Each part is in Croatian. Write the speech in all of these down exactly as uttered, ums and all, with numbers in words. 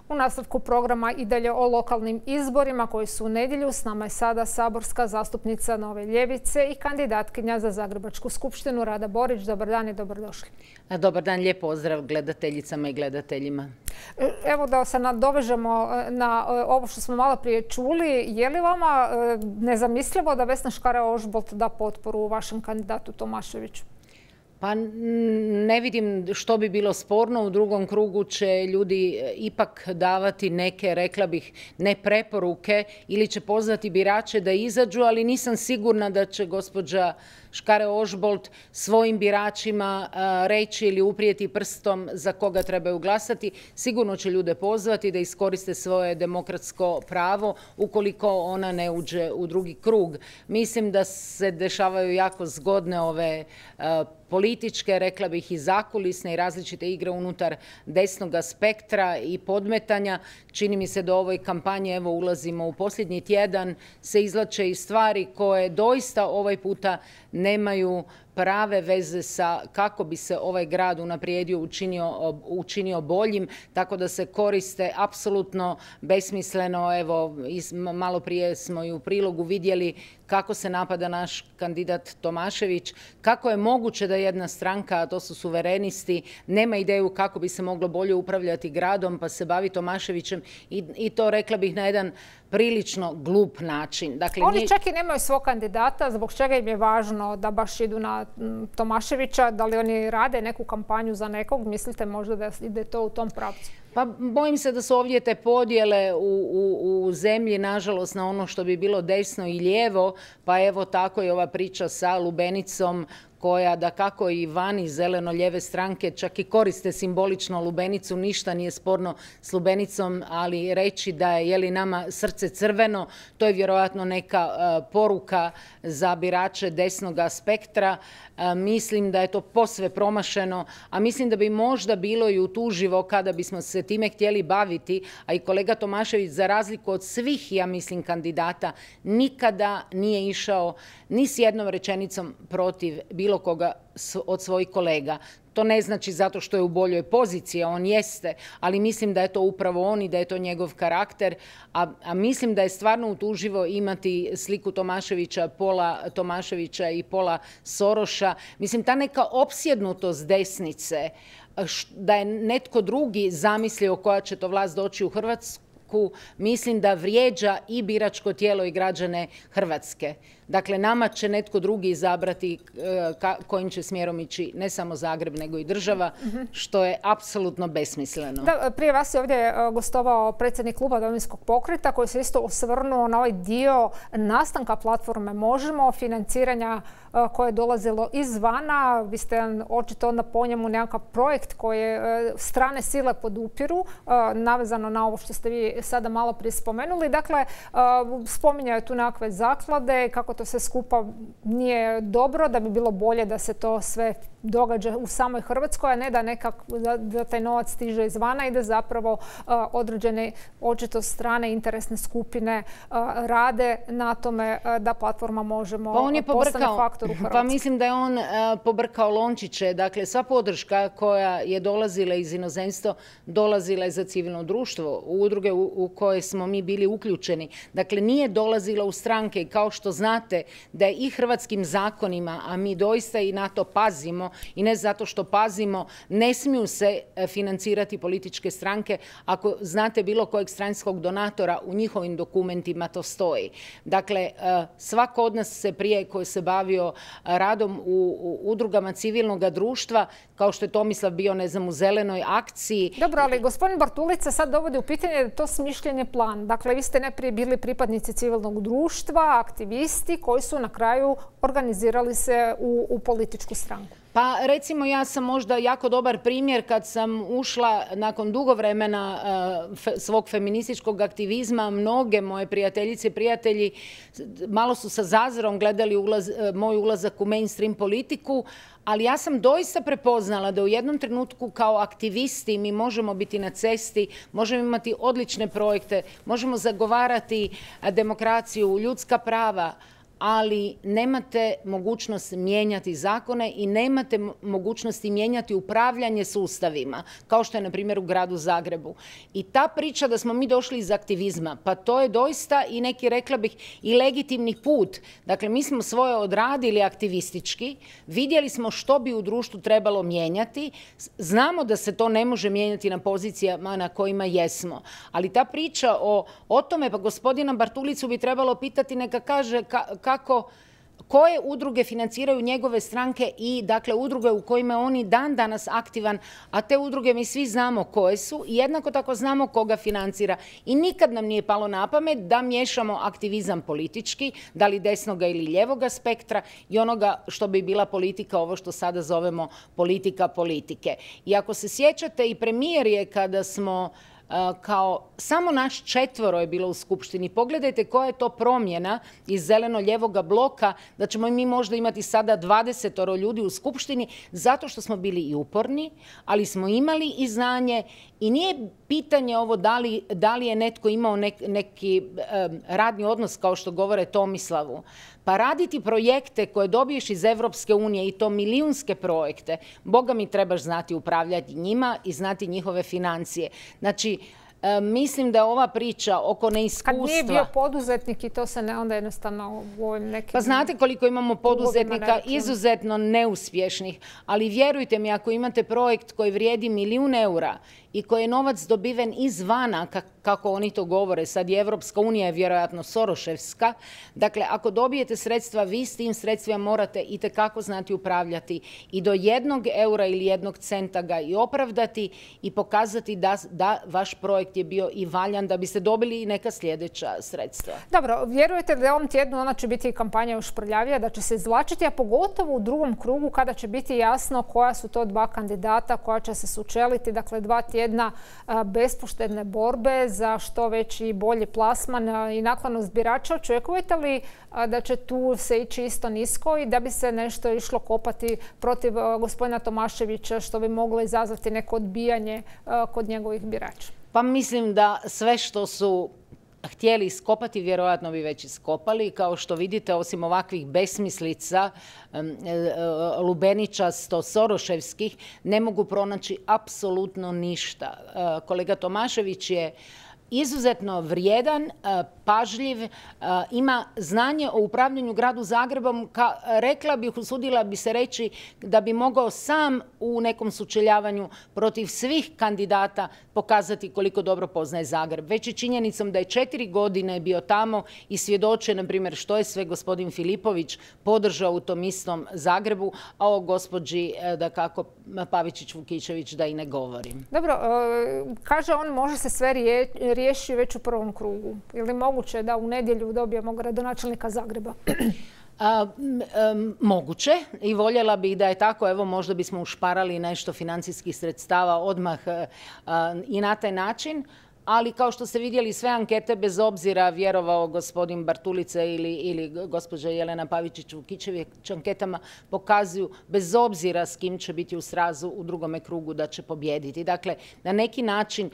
U nastavku programa i dalje o lokalnim izborima koji su u nedjelju. S nama je sada saborska zastupnica Nove ljevice i kandidatkinja za Zagrebačku skupštinu Rada Borić. Dobar dan i dobrodošli. Dobar dan, lijep pozdrav gledateljicama i gledateljima. Evo da se nadovežemo na ovo što smo malo prije čuli. Je li vama nezamislivo da Vesna Škare-Ožbolt da potporu vašem kandidatu Tomaševiću? Pa ne vidim što bi bilo sporno. U drugom krugu će ljudi ipak davati neke, rekla bih, ne preporuke ili će pozvati birače da izađu, ali nisam sigurna da će gospođa Škare-Ožbolt svojim biračima reći ili uprijeti prstom za koga trebaju glasati. Sigurno će ljude pozvati da iskoriste svoje demokratsko pravo ukoliko ona ne uđe u drugi krug. Mislim da se dešavaju jako zgodne ove političke, rekla bih i zakulisne i različite igre unutar desnog spektra i podmetanja. Čini mi se da u ovoj kampanji, evo ulazimo u posljednji tjedan, se izvlače i stvari koje doista ovaj puta nemaju prave veze sa kako bi se ovaj grad unaprijedio, učinio, učinio boljim, tako da se koriste apsolutno besmisleno. Evo, malo prije smo i u prilogu vidjeli kako se napada naš kandidat Tomašević, kako je moguće da jedna stranka, a to su suverenisti, nema ideju kako bi se moglo bolje upravljati gradom, pa se bavi Tomaševićem i, i to, rekla bih, na jedan prilično glup način. Dakle, Oni nije... čak i nemaju svog kandidata, zbog čega im je važno da baš idu na Tomaševića, da li oni rade neku kampanju za nekog, mislite možda da ide to u tom pravcu? Pa bojim se da su ovdje te podjele u, u, u zemlji, nažalost, na ono što bi bilo desno i lijevo, pa evo tako je ova priča sa lubenicom, koja da kako i vani zeleno-lijeve stranke čak i koriste simbolično lubenicu, ništa nije sporno s lubenicom, ali reći da je, je li nama srce crveno, to je vjerojatno neka uh, poruka za birače desnog spektra. Uh, mislim da je to posve promašeno, a mislim da bi možda bilo i utuživo kada bismo se time htjeli baviti, a i kolega Tomašević, za razliku od svih, ja mislim, kandidata, nikada nije išao ni s jednom rečenicom protiv bilo koga od svojih kolega. To ne znači zato što je u boljoj poziciji, on jeste, ali mislim da je to upravo on i da je to njegov karakter, a, a mislim da je stvarno utuživo imati sliku Tomaševića, pola Tomaševića i pola Soroša. Mislim, ta neka opsjednutost desnice, da je netko drugi zamislio koja će to vlast doći u Hrvatsku, mislim da vrijeđa i biračko tijelo i građane Hrvatske. Dakle, nama će netko drugi izabrati kojim će smjerom ići ne samo Zagreb, nego i država, što je apsolutno besmisleno. Da, prije vas je ovdje gostovao predsjednik kluba Domovinskog pokreta koji se isto osvrnuo na ovaj dio nastanka platforme Možemo, financiranja koje je dolazilo izvana. Vi ste očito onda po njemu nekakav projekt koje strane sile podupiru, navezano na ovo što ste vi sada malo prije spomenuli. Dakle, spominjaju tu nekakve zaklade, kako to sve skupa nije dobro, da bi bilo bolje da se to sve događa u samoj Hrvatskoj, a ne da nekak, da, da taj novac stiže izvana i da zapravo uh, određene očito strane interesne skupine uh, rade na tome uh, da platforma Možemo pa on je postane faktor u Hrvatskoj. Pa mislim da je on uh, pobrkao lončiće. Dakle, sva podrška koja je dolazila iz inozemstva dolazila je za civilno društvo, u udruge u, u koje smo mi bili uključeni. Dakle, nije dolazila u stranke, kao što znate da je i hrvatskim zakonima, a mi doista i na to pazimo, i ne zato što pazimo, ne smiju se financirati političke stranke. Ako znate bilo kojeg stranskog donatora, u njihovim dokumentima to stoji. Dakle, svako od nas se prije koji se bavio radom u, u udrugama civilnog društva, kao što je Tomislav bio, ne znam, u zelenoj akciji. Dobro, ali gospodin Bartulica sad dovodi u pitanje da je to smišljen je plan. Dakle, vi ste najprije bili pripadnici civilnog društva, aktivisti koji su na kraju organizirali se u, u političku stranku. Pa recimo ja sam možda jako dobar primjer kad sam ušla nakon dugo vremena uh, fe, svog feminističkog aktivizma. Mnoge moje prijateljice i prijatelji malo su sa zazorom gledali ulaz, uh, moj ulazak u mainstream politiku, ali ja sam doista prepoznala da u jednom trenutku kao aktivisti mi možemo biti na cesti, možemo imati odlične projekte, možemo zagovarati demokraciju, ljudska prava, ali nemate mogućnost mijenjati zakone i nemate mogućnosti mijenjati upravljanje sustavima, kao što je, na primjer, u gradu Zagrebu. I ta priča da smo mi došli iz aktivizma, pa to je doista i neki, rekla bih, i legitimni put. Dakle, mi smo svoje odradili aktivistički, vidjeli smo što bi u društvu trebalo mijenjati, znamo da se to ne može mijenjati na pozicijama na kojima jesmo. Ali ta priča o, o tome, pa gospodina Bartulicu bi trebalo pitati, neka kaže ka, kako, koje udruge financiraju njegove stranke i dakle udruge u kojima je oni dan danas aktivan, a te udruge mi svi znamo koje su i jednako tako znamo koga financira. I nikad nam nije palo na pamet da miješamo aktivizam politički, da li desnoga ili ljevoga spektra i onoga što bi bila politika, ovo što sada zovemo politika politike. I ako se sjećate, i premijer je kada smo kao samo naš četvoro je bilo u Skupštini. Pogledajte koja je to promjena iz zeleno-ljevoga bloka, da ćemo mi možda imati sada dvadesetoro ljudi u Skupštini, zato što smo bili i uporni, ali smo imali i znanje i nije pitanje ovo da li, da li je netko imao nek, neki um, radni odnos, kao što govore Tomislavu. Pa raditi projekte koje dobiješ iz Evropske unije i to milijunske projekte, Boga mi trebaš znati upravljati njima i znati njihove financije. Znači, e, mislim da ova priča oko neiskustva... Kad nije bio poduzetnik i to se ne onda jednostavno u ovim nekim... Pa znate koliko imamo poduzetnika izuzetno neuspješnih, ali vjerujte mi, ako imate projekt koji vrijedi milijun eura i koji je novac dobiven izvana, kako oni to govore, sad je Evropska unija je vjerojatno Soroševska, dakle ako dobijete sredstva, vi s tim sredstvima morate itekako znati upravljati i do jednog eura ili jednog centa ga i opravdati i pokazati da, da vaš projekt je bio i valjan, da biste dobili i neka sljedeća sredstva. Dobro, vjerujete da ovom tjednu ona će biti kampanja još prljavija, da će se izvlačiti, a pogotovo u drugom krugu kada će biti jasno koja su to dva kandidata koja će se sučeliti, dakle dva tjedna bespoštedne borbe za što veći i bolji plasman i naklonost birača. Očekujete li da će tu se ići isto nisko i da bi se nešto išlo kopati protiv gospodina Tomaševića, što bi moglo izazvati neko odbijanje kod njegovih birača? Pa mislim da sve što su htjeli iskopati, vjerojatno bi već iskopali. Kao što vidite, osim ovakvih besmislica, lubeničasto soroševskih, ne mogu pronaći apsolutno ništa. Kolega Tomašević je izuzetno vrijedan, pažljiv, ima znanje o upravljanju gradu Zagrebom, ka, rekla bih, usudila bi se reći da bi mogao sam u nekom sučeljavanju protiv svih kandidata pokazati koliko dobro poznaje Zagreb. Već i činjenicom da je četiri godine bio tamo i svjedoče, na primjer, što je sve gospodin Filipović podržao u tom istom Zagrebu, a o gospođi, da kako, Pavičić-Vukičević da i ne govorim. Dobro, kaže on može se sve riješi već u prvom krugu. Ili moguće da u nedjelju dobijemo gradonačelnika Zagreba? A, m, moguće i voljela bih da je tako. Evo, možda bismo ušparali nešto financijskih sredstava odmah a, i na taj način. Ali kao što ste vidjeli, sve ankete, bez obzira vjerovao gospodin Bartulica ili, ili gospođa Jelena Pavičić-Vukičević, anketama pokazuju, bez obzira s kim će biti u srazu u drugome krugu, da će pobijediti. Dakle, na neki način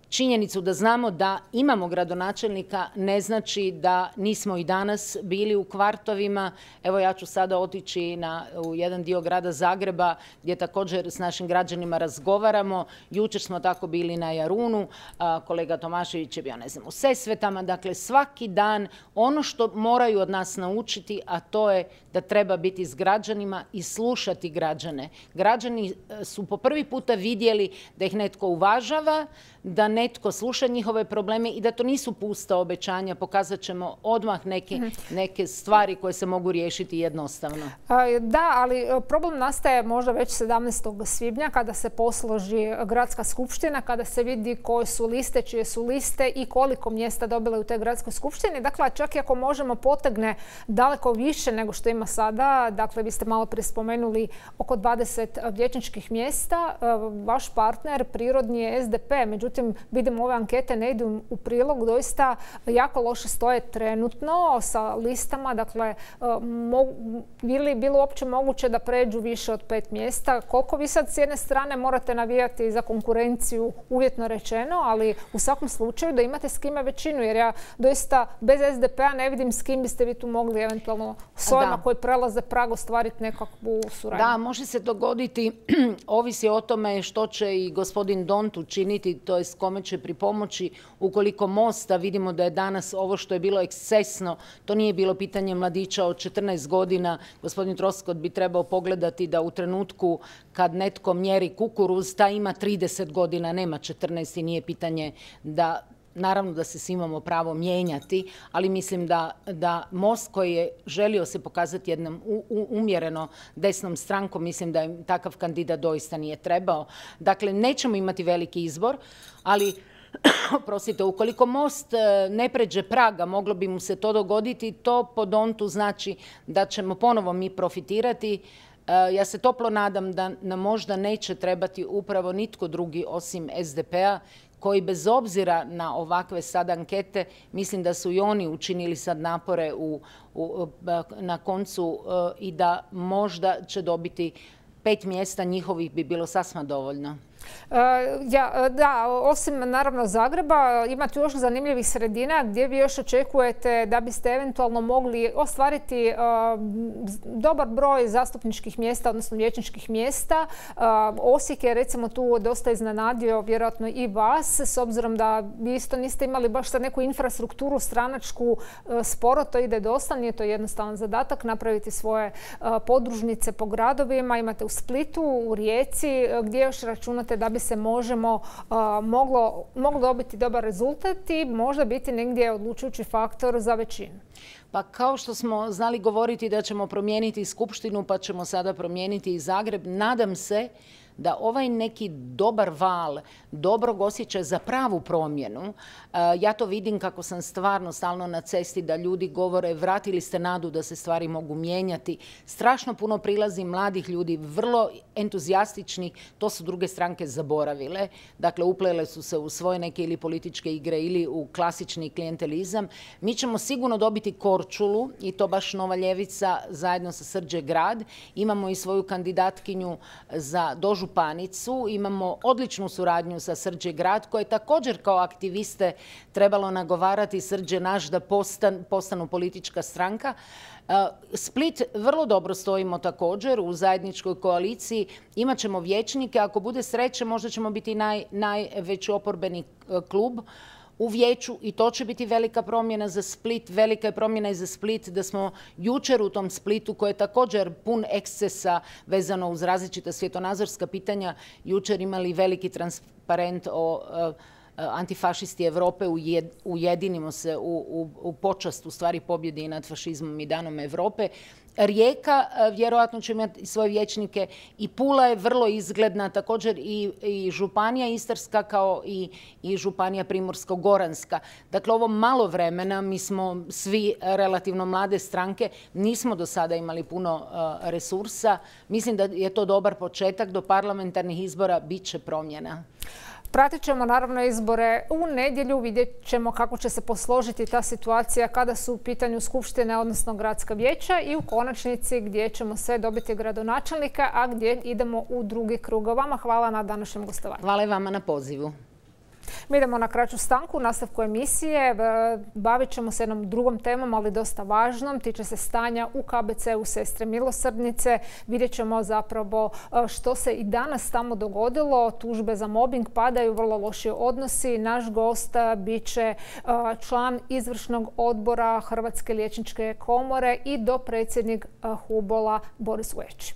činjenicu da znamo da imamo gradonačelnika ne znači da nismo i danas bili u kvartovima. Evo, ja ću sada otići na, u jedan dio grada Zagreba gdje također s našim građanima razgovaramo. Jučer smo tako bili na Jarunu, a, kolega Tomašević je bio, ne znam, u Sesvetama. Dakle, svaki dan ono što moraju od nas naučiti, a to je da treba biti s građanima i slušati građane. Građani su po prvi puta vidjeli da ih netko uvažava, da netko sluša njihove probleme i da to nisu pusta obećanja. Pokazat ćemo odmah neke, neke stvari koje se mogu riješiti jednostavno. Da, ali problem nastaje možda već sedamnaestog svibnja kada se posloži gradska skupština, kada se vidi koje su liste, čije su liste i koliko mjesta dobile u toj gradskoj skupštini. Dakle, čak i ako možemo potegne daleko više nego što ima sada, dakle, vi ste malo prije spomenuli oko dvadeset vijećničkih mjesta, vaš partner prirodni je S D P, međutim, vidimo ove ankete ne idu u prilog, doista jako loše stoje trenutno sa listama. Dakle, bili bilo uopće moguće da pređu više od pet mjesta? Koliko vi sad s jedne strane morate navijati za konkurenciju, uvjetno rečeno, ali u svakom slučaju da imate s kime većinu, jer ja doista bez S D P-a ne vidim s kim biste vi tu mogli eventualno s ovima koji prelaze prag ostvariti nekakvu suradnju. Da, može se dogoditi, ovisi o tome što će i gospodin Dont učiniti, to je kome će pripomoći. Ukoliko Mosta, vidimo da je danas ovo što je bilo ekscesno, to nije bilo pitanje mladića od četrnaest godina. Gospodin Troskot bi trebao pogledati da u trenutku kad netko mjeri kukuruz, ta ima trideset godina, nema četrnaest i nije pitanje da... Naravno da se svi imamo pravo mijenjati, ali mislim da, da Most koji je želio se pokazati jednom u, u, umjereno desnom strankom, mislim da je takav kandidat doista nije trebao. Dakle, nećemo imati veliki izbor, ali prosite, ukoliko Most ne pređe praga, moglo bi mu se to dogoditi, to po Dontu znači da ćemo ponovo mi profitirati. Ja se toplo nadam da nam možda neće trebati upravo nitko drugi osim S D P-a, koji bez obzira na ovakve sad ankete, mislim da su i oni učinili sad napore u, u, na koncu uh, i da možda će dobiti pet mjesta njihovih bi bilo sasma dovoljno. Ja, da, osim naravno Zagreba, imate još zanimljivih sredina gdje vi još očekujete da biste eventualno mogli ostvariti uh, dobar broj zastupničkih mjesta, odnosno vijećničkih mjesta. Uh, Osijek je recimo tu dosta iznenadio, vjerojatno i vas, s obzirom da vi isto niste imali baš sad neku infrastrukturu stranačku, uh, sporo to ide dosta, nije to jednostavan zadatak napraviti svoje uh, podružnice po gradovima. Imate u Splitu, u Rijeci, uh, gdje još računate da bi se možemo uh, moglo, moglo dobiti dobar rezultat i možda biti negdje odlučujući faktor za većinu. Pa kao što smo znali govoriti da ćemo promijeniti Skupštinu, pa ćemo sada promijeniti i Zagreb, nadam se da ovaj neki dobar val dobrog osjećaja za pravu promjenu, ja to vidim kako sam stvarno stalno na cesti da ljudi govore vratili ste nadu da se stvari mogu mijenjati. Strašno puno prilazi mladih ljudi, vrlo entuzijastični, to su druge stranke zaboravile. Dakle, uplele su se u svoje neke ili političke igre ili u klasični klijentelizam. Mi ćemo sigurno dobiti Korčulu i to baš Nova ljevica zajedno sa Srđe Grad. Imamo i svoju kandidatkinju za dožupanicu, imamo odličnu suradnju sa Srđe Grad koje je također kao aktiviste trebalo nagovarati Srđe naš da postan, postanu politička stranka. Split vrlo dobro stojimo također u zajedničkoj koaliciji. Imaćemo vijećnike, ako bude sreće možda ćemo biti naj, najveći oporbeni klub u vijeću i to će biti velika promjena za Split. Velika je promjena i za Split da smo jučer u tom Splitu koji je također pun ekscesa vezano uz različita svjetonazorska pitanja jučer imali veliki transparent o antifašisti Evrope, ujedinimo se u, u, u počast u stvari pobjedi nad fašizmom i danom Evrope. Rijeka vjerojatno će imati svoje vijećnike i Pula je vrlo izgledna, također i, i Županija Istarska kao i, i Županija Primorsko-Goranska. Dakle, ovo malo vremena, mi smo svi relativno mlade stranke, nismo do sada imali puno uh, resursa. Mislim da je to dobar početak, do parlamentarnih izbora bit će promjena. Pratit ćemo naravno izbore u nedjelju, vidjet ćemo kako će se posložiti ta situacija kada su u pitanju skupštine, odnosno gradska vijeća i u konačnici gdje ćemo sve dobiti gradonačelnika, a gdje idemo u drugi krug. Vama hvala na današnjem gostovanju. Hvala i vama na pozivu. Mi idemo na kraću stanku, u nastavku emisije. Bavit ćemo se jednom drugom temom, ali dosta važnom. Tiče se stanja u K B C-u Sestre milosrdnice. Vidjet ćemo zapravo što se i danas tamo dogodilo. Tužbe za mobbing padaju, vrlo loši odnosi. Naš gost bit će član izvršnog odbora Hrvatske liječničke komore i dopredsjednik Hubola Boris Vuječ.